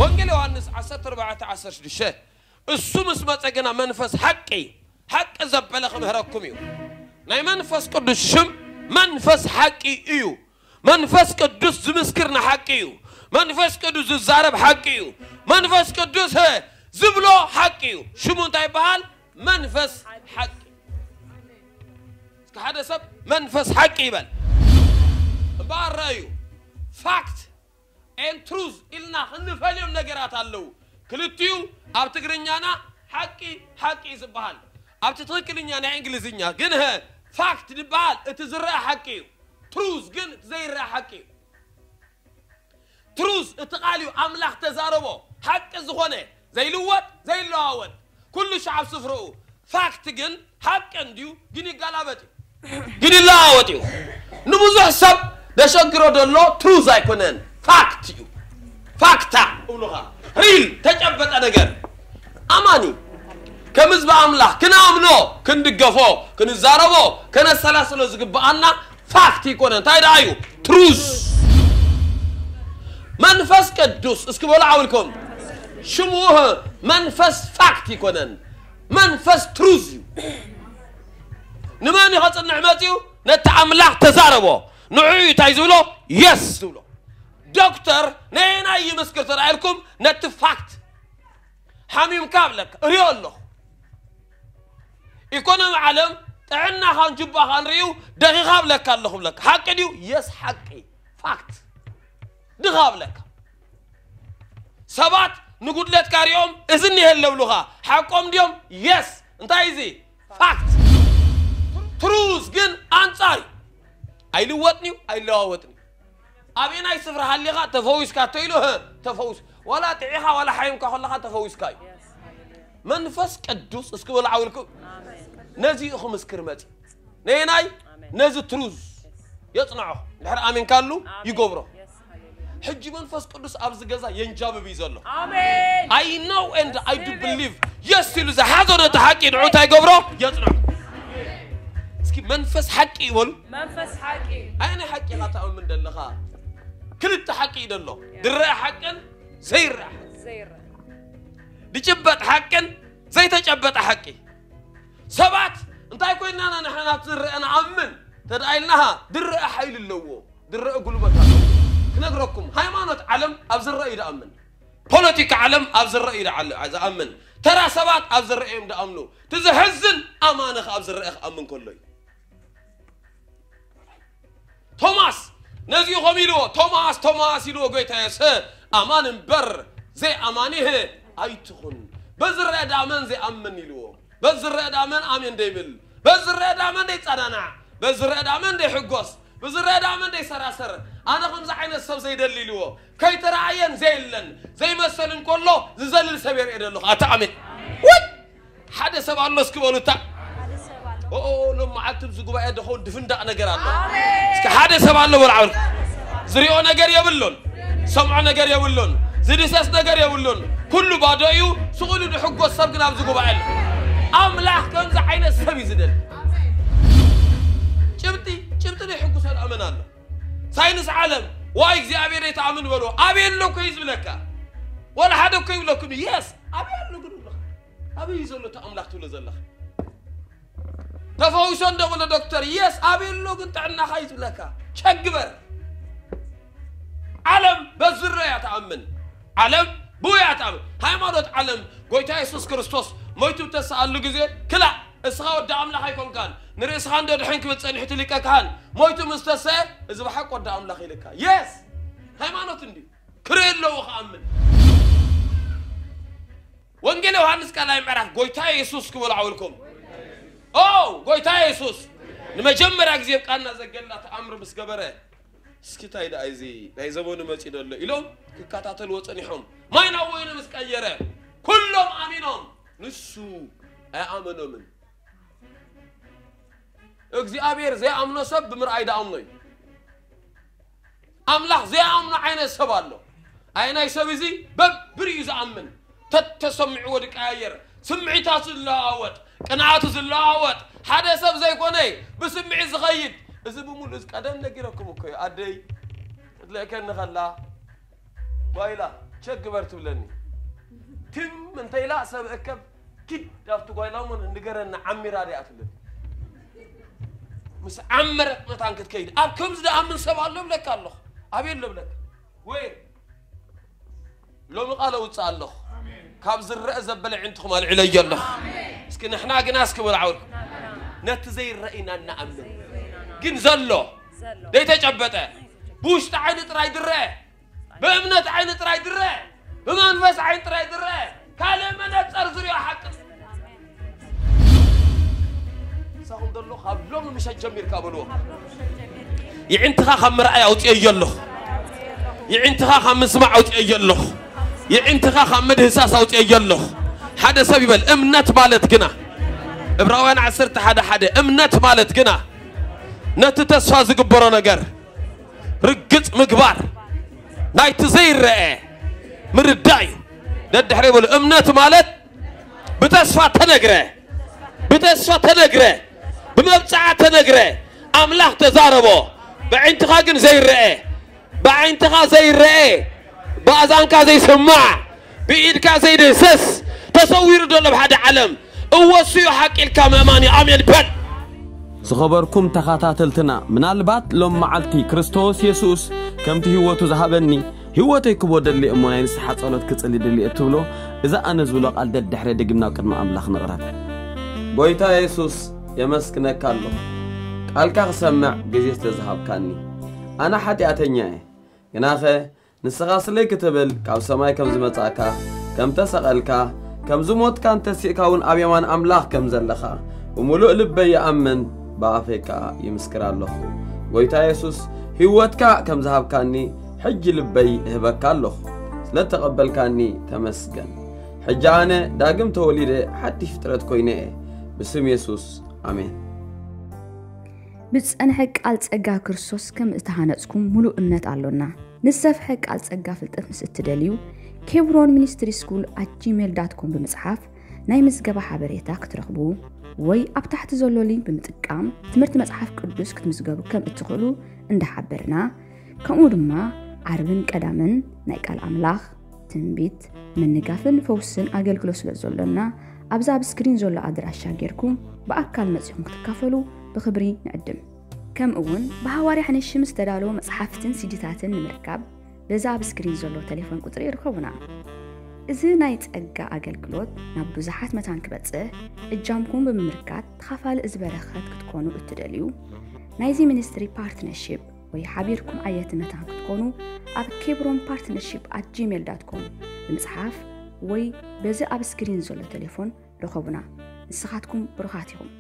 ወንጌል ዮሃንስ ዓሰርተ ኣርባዕተ ዓሰርተ ሽዱሽተ፣ እሱ ምስ መጸ ግና መንፈስ ሓቂ፣ ሓቂ ዘበለ ክምህረኩም እዩ። ናይ መንፈስ ቅዱስ ሽም መንፈስ ሓቂ እዩ። መንፈስ ቅዱስ ዝምስክር ንሓቂ እዩ። መንፈስ ቅዱስ ዝዛረብ ሓቂ እዩ። መንፈስ ቅዱስ፣ እ፣ ዝብሎ ሓቂ እዩ። ሽሙ እንታይ ይበሃል? መንፈስ ሓቂ። እስኪ ሓደ ሰብ መንፈስ ሓቂ ይበል። እምበኣር ረኣዩ፣ ፋክት ኤን ትሩዝ ኢልና ክንፈልዮም ነገራት ኣለዉ። ክልቲኡ ኣብ ትግርኛና ሓቂ፣ ሓቂ እዩ ዝበሃል። ኣብቲ ትኽክልኛ ናይ እንግሊዝኛ ግን፣ ሀ፣ ፋክት ዝበሃል እቲ ዝረአ ሓቂ እዩ። ትሩዝ ግን እቲ ዘይረአ ሓቂ እዩ። ትሩዝ እቲ ቃል እዩ፣ ኣምላኽ ተዛረቦ፣ ሓቂ ዝኾነ፣ ዘይልወጥ፣ ዘይለዋወጥ፣ ኩሉ ሻዕ ኣብ ስፍርኡ። ፋክት ግን ሓቂ እንድዩ፣ ግን ይጋላበጥ እዩ፣ ግን ይለዋወጥ እዩ። ንብዙሕ ሰብ ደሸግሮ ደሎ ትሩዝ ኣይኮነን፣ ፋክት እዩ። ፋክታ እብሉኻ፣ ሪል፣ ተጨበጠ ነገር። ኣማኒ ከም ህዝቢ ኣምላኽ ክንኣምኖ፣ ክንድገፎ፣ ክንዛረቦ፣ ከነሰላስሎ ዝግብኣና ፋክት ይኮነን። እንታይ ደኣ እዩ? ትሩዝ። መንፈስ ቅዱስ፣ እስኪ በሉ ዓውልኩም። ሽሙ መንፈስ ፋክት ይኮነን። መንፈስ ትሩዝ እዩ። ንመን እዩ ከጽንዕ መጺኡ? ነቲ ኣምላኽ ተዛረቦ። ንዑ እዩ እንታይ ዝብሎ? የስ ዝብሎ። ዶክተር ነየናይ ይምስክር ተራኢልኩም? ነቲ ፋክት። ሓሚምካ ብለካ፣ እሪኦ ኣለኹ። ኢኮኖሚ ዓለም ጥዕናኻን ጁባኻን ርእዩ ደኺኻ ብለካ ኣለኹ ብለካ። ሓቂ ድዩ? የስ፣ ሓቂ። ፋክት። ድኻ ብለካ። ሰባት ንጉድለትካ ሪኦም እዚ እኒሀ ኣለብሉኻ። ሓቆም ድዮም? የስ። እንታይ እዚ? ፋክት። ትሩዝ ግን ኣንጻር እዩ። ኣይልወጥን እዩ፣ ኣይለዋወጥን እዩ። ኣበየናይ ስፍራ ሃሊኻ ተፈዊስካ እቶ ኢሉ፣ ህ፣ ተፈዊስ። ዋላ ጥዒኻ፣ ዋላ ሓይምካ ከለኻ ተፈዊስካ እዩ። መንፈስ ቅዱስ፣ እስኪ በሉ ዓውልኩም። ነዚ እዩ ክምስክር መጺ። ነየናይ? ነዚ ትሩዝ የጽንዖ። ድሕሪ ኣሜንካሉ ይገብሮ። ሕጂ መንፈስ ቅዱስ ኣብዚ ገዛ የንጃብብ እዩ ዘሎ። ኣሜን። I know and I do believe። የስ ኢሉ ዝሓዞ ነቲ ሓቂ ንዑ እንታይ ይገብሮ? የጽንዖ። እስኪ መንፈስ ሓቂ ይበሉ። መንፈስ ሓቂ። ኣየናይ ሓቂ ኢኻ ትኣምን ዘለኻ? ክልተ ሓቂ እዩ ዘሎ። ድረአ ሓቅን ዘይረአ ሓቂ። ዘይረአ። ድጭበጥ ሓቅን ዘይተጨበጠ ሓቂ። ሰባት እንታይ ኮይንና ንሕና ናብቲ ዝረአ ንኣምን ተድኣ ኢልናኻ ድረአ ሓይሊ ኣለዎ። ድረአ ጉልበት ኣለዎ። ክነግረኩም፣ ሃይማኖት ዓለም ኣብ ዝረአ እዩ ድኣምን። ፖለቲካ ዓለም ኣብ ዝረአ እዩ ድዓለ-፣ ዝኣምን። ተራ ሰባት ኣብ ዝረአ እዮም ድኣምኑ። እቲ ዘሕዝን ኣማኒ ኸኣ ኣብ ዝረአ ክኣምን ከሎ እዩ። ቶማስ ነዚኡ ኸም ኢልዎ፣ ቶማስ፣ ቶማስ ኢልዎ፣ ጎይታ የሱስ፣ ኣማን እምበር ዘይኣማኒህ ኣይትኹን። በዝረአ ዳመን ዘይኣምን ኢልዎ። በዝረአ ዳመን ኣሜን ደይብል። በዝረአ ዳመን ደይጸናናዕ። በዝረአ ዳመን ደይሕጎስ። በዝረአ ዳመን ደይሰራሰር። ኣነ ከምዚ ዓይነት ሰብ ዘይደሊ ኢልዎ። ከይተረኣየን ዘየለን ዘይመሰልን ከሎ ዝዘልል ሰብ የርኢ ዘለኹ። ኣታ ኣሜን። ወይ ሓደ ሰብ ኣሎ እስኪ በሉ እታ። ሓደ ሰብ ኣሎ። ኦ፣ ኦ፣ ኦ፣ ሎም መዓልቲ ኣብዚ ጉባኤ ደኸውን ድፍንዳቕ ነገር ኣሎ። ኣሜን። እስኪ ሓደ ሰብ ኣሎ በሉ ዓውል። ዝሪኦ ነገር የብሉን። ዝሰምዖ ነገር የብሉን። ዝድሰስ ነገር የብሉን። ኩሉ ባዶ እዩ። ስቕ ኢሉ ድሕጎስ ሰብ ግን ኣብዚ ጉባኤ ኣሎ። ኣምላኽ ከምዚ ዓይነት ሰብ እዩ ዝደሊ። ጭብጢ፣ ጭብጢ ደይሕጉሶ ደኣ መን ኣሎ? ሳይንስ ዓለም፣ ዋይ እግዚኣብሔር ኣይትኣምን በልዎ። ኣበይ ኣሎ እኮ እዩ ዝብለካ። ዋላ ሓደ እኮ ይብለኩም። የስ፣ ኣበይ ኣሎ ግን ይብለካ። ኣበይ እዩ ዘሎ እቲ ኣምላኽ ትብሎ ዘለኻ? ተፈዊሶ እንዶ በሎ ዶክተር፣ የስ፣ ኣበይ ኣሎ ግን ጥዕናኻ እዩ ዝብለካ። ቸግበር። ዓለም በዝሮ እያ ትኣምን። ዓለም ብኡ እያ ትኣምን። ሃይማኖት ዓለም፣ ጎይታ የሱስ ክርስቶስ ሞይቱ ብተስኣሉ ግዜ፣ ክላእ፣ እስኻ ወዲ ኣምላኽ ኣይኮንካን፣ ንርእስኻ እንዶ ድሕን ክብል ጸኒሑ እቲ ሊቀ ካህን ሞይቱ ምስ ተሰየ፣ እዚ ብሓቂ ወዲ ኣምላኽ ኢልካ። የስ! ሃይማኖት እንድዩ። ክርኢ ኣለዎ ክኣምን። ወንጌል ዮሃንስ ካልኣይ ምዕራፍ፣ ጎይታ የሱስ ክበሉ ዓውልኩም። ኦ፣ ጎይታ የሱስ ንመጀመርያ ግዜ ኣብ ቃና ዘገላ ተኣምር ምስ ገበረ፣ እስኪ እንታይ ደኣ እዚ ናይ ዘመኑ መጺኡ ዘሎ ኢሎም ክከታተልዎ ጸኒሖም። ማይ ናብ ወይኒ ምስ ቀየረ፣ ኩሎም ኣሚኖም፣ ንሱ ኣይኣመኖምን። እግዚኣብሔር ዘይኣምኖ ሰብ ብምርኣይ ደኣምኖ እዩ። ኣምላኽ ዘይኣምኖ ዓይነት ሰብ ኣሎ። ኣየናይ ሰብ እዚ? በብርእዩ ዝኣምን፣ ተተሰሚዕዎ ዝቀያየር፣ ስምዒታቱ ዝለዋወጥ፣ ቅንዓቱ ዝለዋወጥ፣ ሓደ ሰብ ዘይኮነ ብስምዒት ዝኸይድ። እዚ ብምሉእ እዚ ቀደም ነጊረኩም እኮ እዩ። ኣደይ ክትልእከኒ ከላ፣ ጓይላ፣ ቸክ ግበር ትብለኒ። ትም እንተ ኢላ ሰብ እከብ ኪድ ኣብቲ ጓይላ እሞ ንገረና ዓሚራ ድያ ትብለኒ። ምስ ዓመረት መታን ክትከይድ ኣብ ከምዚ ደኣምን ሰብ ኣሎ ብለካ ኣለኹ። ኣብ የሎ ብለካ። ወይ ሎሚ ቃል ኣውፅእ ኣለኹ። ካብ ዝረአ ዘበለ ዕንትኹም ኣልዕለዮ ኣለኹ። እስኪ ንሕና ግና እስኪ በሉ ዓውል ነቲ ዘይረእይና እናኣምን ግን ዘሎ ዘይተጨበጠ ብውሽጢ ዓይኒ ጥራይ ድረአ ብእምነት ዓይኒ ጥራይ ድረአ ብመንፈስ ዓይኒ ጥራይ ድረአ ካልእ መነፀር ዝሪኦ ሓቂ ንስኹም ዘሎ ካብ ሎሚ ምሸት ጀሚርካ በልዎ። ይዕንትኻ ካብ ምርኣይ ኣውፅኤዮ ኣለኹ። ይዕንትኻ ካብ ምስማዕ ኣውፅኤዮ ኣለኹ። ይዕንትኻ ካብ ምድህሳስ ኣውፅኤዮ ኣለኹ። ሓደ ሰብ ይበል እምነት ማለት ግና ዕብራውያን ዓሰርተ ሓደ ሓደ እምነት ማለት ግና ነቲ ተስፋ ዝግበሮ ነገር ርግፅ ምግባር ናይቲ ዘይረአ ምርዳእ እዩ። ደድሕረ ይበሉ እምነት ማለት ብተስፋ ተነግረ ብተስፋ ተነግረ ብመብፅዓ ተነግረ ኣምላኽ ተዛረቦ ብዓይንትኻ ግን ዘይረአ ብዓይንትኻ ዘይረአ ብኣዛንካ ዘይስማዕ ብኢድካ ዘይድህሰስ ተሰዊሩ ዘሎ ብሓደ ዓለም እወሱ እዩ ሓቂ ኢልካ ምእማን እዩ ኣሜን በል። ዝኸበርኩም ተኸታተልትና ምናልባት ሎም መዓልቲ ክርስቶስ የሱስ ከምቲ ህይወቱ ዝሃበኒ ህይወተይ ክቦ ደሊ እሞ ናይ ንስሓ ጸሎት ክጽሊ ድሊ እትብሎ እዚ ኣነ ዝብሎ ቃል ደድሕረ ድግምና ኣብ ቅድሚ ኣምላኽ ንቕረብ። ጎይታ የሱስ የመስግነካ ኣለኹ ቃልካ ክሰምዕ ግዜ ስለ ዝሃብካኒ። ኣነ ሓጢኣተኛ እየ ግናኸ ንስኻ ስለይ ክትብል ካብ ሰማይ ከም ዝመጻእካ ከም ተሰቐልካ ከም ዝሞትካን ተሲእካ እውን ኣብ የማን ኣምላኽ ከም ዘለኻ ብምሉእ ልበይ ይኣምን ብኣፈይ ከኣ ይምስክር ኣለኹ። ጎይታ የሱስ ህይወትካ ከም ዝሃብካኒ ሕጂ ልበይ እህበካ ኣለኹ። ስለ እተቐበልካኒ ተመስገን። ሕጂ ኣነ ዳግም ተወሊደ ሓድሽ ፍጥረት ኮይነ እየ። ብስም የሱስ ኣሜን። ብዝጸንሐ ቃል ጸጋ ክርስቶስ ከም እተሃነጽኩም ምሉእ እምነት ኣሎና። ንዝሰፍሐ ቃል ጸጋ ፍልጠት ምስ እትደልዩ፣ ኬብሮን ሚኒስትሪ ስኩል ኣት ጂሜል ዳት ኮም ብምጽሓፍ ናይ ምዝገባ ሓበሬታ ክትረኽቡ ወይ ኣብ ታሕቲ ዘሎ ሊንክ ብምጥቃም ትምህርቲ መጽሓፍ ቅዱስ ክትምዝገቡ ከም እትኽእሉ እንዳሓበርና፣ ከምኡ ድማ ዓርብን ቀዳምን ናይ ቃል ኣምላኽ፣ ትንቢት፣ ምንጋፍን ፈውስን ኣገልግሎት ስለ ዘሎና፣ ኣብዚ ኣብ ስክሪን ዘሎ ኣድራሻ ጌርኩም ብኣካል መጺኹም ክትካፈሉ ብኽብሪ ንዕድም። ከምኡ እውን ብሃዋርያ ሓንሺም ዝተዳለወ መጽሓፍትን ሲዲታትን ንምርካብ በዚ ኣብ ስክሪን ዘሎ ቴሌፎን ቁጽሪ ይርከቡና። እዚ ናይ ጸጋ ኣገልግሎት ናብ ብዙሓት መታን ክበጽሕ እጃምኩም ብምምርካት ተኻፋሊ እዚ በረኸት ክትኮኑ እትደልዩ ናይዚ ሚኒስትሪ ፓርትነርሺፕ ወይ ሓቢርኩም ዓየቲ መታን ክትኮኑ ኣብ ኬብሮን ፓርትነርሺፕ ኣት ጂሜል ዳት ኮም ብምጽሓፍ ወይ በዚ ኣብ ስክሪን ዘሎ ቴሌፎን ርኸቡና። ንስኻትኩም ብሩኻት ኢኹም።